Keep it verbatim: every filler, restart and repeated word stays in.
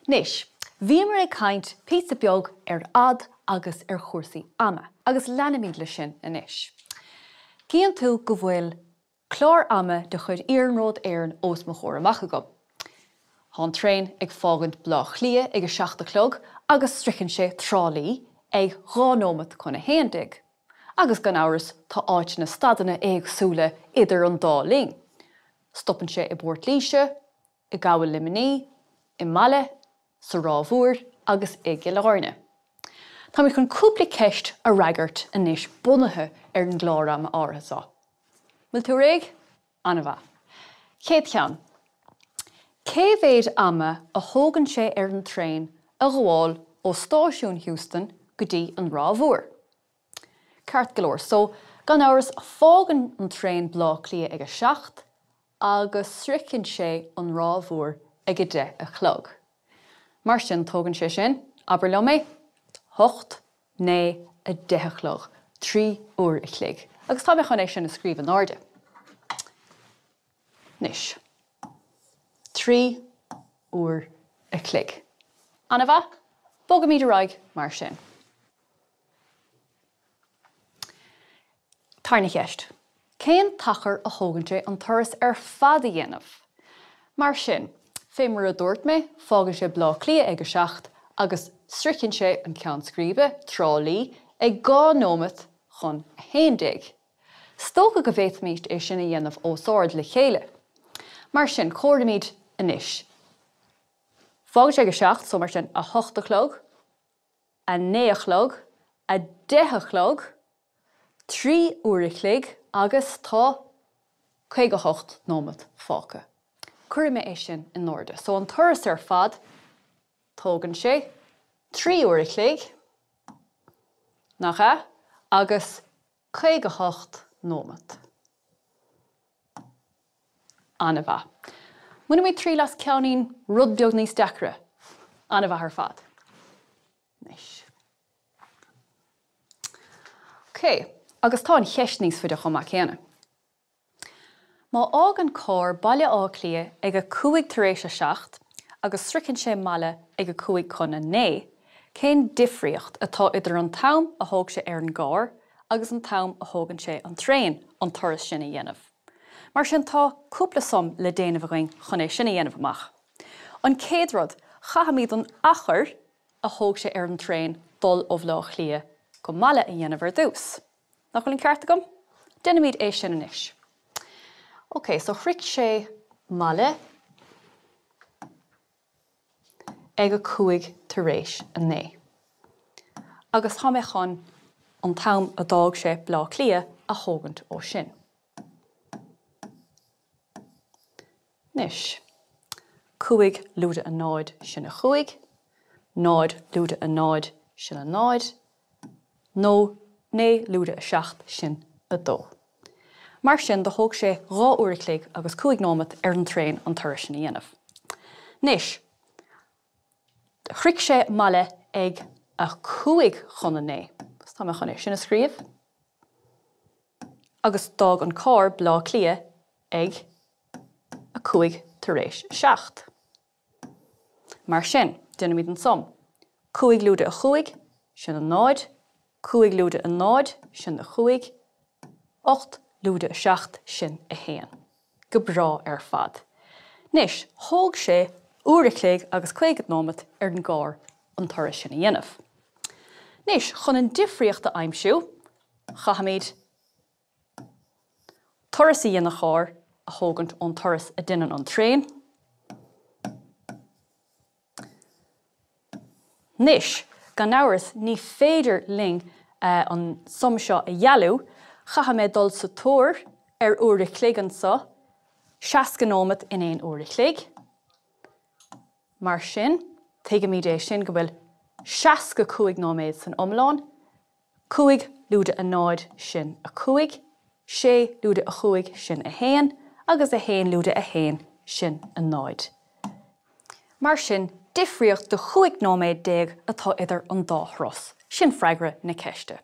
Anois, bhíomar ag caint píosa beag ar fhad agus ar chúrsaí ama, agus leanfaimid leis sin anois. Cíonn tú go bhfuil clár ama de chuid Iarnród Éireann os mo chomhair amach agam. Tá an traein ag fágaint Baile Átha Cliath ag a seacht a chlog agus sroicheann sé Trá Lí ag dhá nóiméad chun a haon déag. Agus gan amhras tá áiteanna stadanna éagsúla idir an dá linn. Stopann sé i bPort Laoise, i gCabhal Luimnigh, i Mala, sa Ráth Mhór agus i gCill Airne. Táimid chun cúpla ceist a fhreagairt anois bunaithe ar an gclár ama áirithe seo. Bhfuil tú réidh? An-mhaith. Chéad cheann. Cé mhéad ama a thógann sé ar an traein a ghabháil ó stáisiún Heuston go dtí an Ráth Mhór? Ceart go leor, so gan amhras fágann an traein Baile Átha Cliath ag a seacht agus sroicheann sé an Ráth Mhór ag a deich a chlog. Mar sin tógann sé sin, abair liom é, hocht, naoi, a deich a chlog, trí uair a chloig. Agus tá mé chun é sin a scríobh in airde. Anois. Trí uair a chloig. An-mhaith, bogaimid ar aghaidh mar sin. Tarna cheist. Cén t-achar a thógann sé an turas ar fad a dhéanamh? Mar sin, fé mar a dúirt mé, fágann sé Baile Átha Cliath ag a seacht agus sroicheann sé an ceann scríbe, Trá Lí, ag dhá nóiméad chun a haon déag. Is dócha go bhféadfaimid é sin a dhéanamh os ard le chéile. Mar sin, comhairimid anois. Fágann sé ag a seacht, so mar sin, a hocht a chlog, a naoi a chlog, a deich a chlog, trí uair a chloig agus tá caoga hocht nóiméad fágtha. Cuirfidh mé é sin in airde. So an turas ar fad, tógann sé trí uair a chloig, nach ea, agus caoga hocht nóiméad. An-mhaith. Bainfimid triail as ceainnín rud beag níos deacra. An-mhaith ar fad. Anois. Ok, agus tá an cheist níos faide chomh maith céanna. Má fhágann carr Baile Átha Cliath ag a cúig tar éis a seacht agus sroicheann sé Mala ag a cúig chun a naoi, cén difríocht atá idir an t-am a thóg sé ar an gcarr agus an t-am a thógann sé an traein an turas sin a dhéanamh? Mar sin tá cúpla sum le déanamh againn chun é sin a dhéanamh amach. An chéad rud, caithfimid an achar a thóg sé ar an traein dul ó Bhaile Átha Cliath go Mala a dhéanamh ar dtús. Nach bhfuil an ceart agam? Déanfaimid é sin anois. Ok, so shroich sé Mala ag a cúig tar éis a naoi. Agus tá mé chun an t-am a d'fhág sé Baile Átha Cliath a thógaint ó sin. Anois, cúig lúide a náid sin a chúig, náid lúide a náid sin a náid, nó naoi lúide a seacht sin a dó. Mar sin, do thóg sé dhá uair a chloig agus cúig nóiméad ar an traein an turas sin a dhéanamh. Anois, shroich sé Mala ag a cúig chun a naoi. Agus tá mé chun é sin a scríobh. Agus d'fhág an carr Baile Átha Cliath ag a cúig tar éis a seacht. Mar sin, déanfaimid an sum. Cúig lúide a chúig, sin a náid, cúig lúide a náid, sin a chúig, ocht lúide a seacht, sin a haon. Go breá ar fad. Anois, thóg sé uair a chloig agus caoga nóiméad ar an gcarr an turas sin a dhéanamh. Anois, chun an difríocht a aimsiú, caithfimid turas a dhein an carr a thógaint ón turas a deineann an traein. Anois, gan amhras, ní féidir linn an sum seo a dhealú, chaithfidh mé dul sa tóir ar uair a chloig anseo, seasca nóiméad in aon uair a chloig. Mar sin, tuigimid é sin go bhfuil seasca cúig nóiméad san iomlán, cúig lúide a náid sin a cúig, sé lúide a chúig sin a haon, agus a haon lúide a haon sin a náid. Mar sin, difríocht de chúig nóiméad déag atá idir an dá thuras. Sin freagra na ceiste.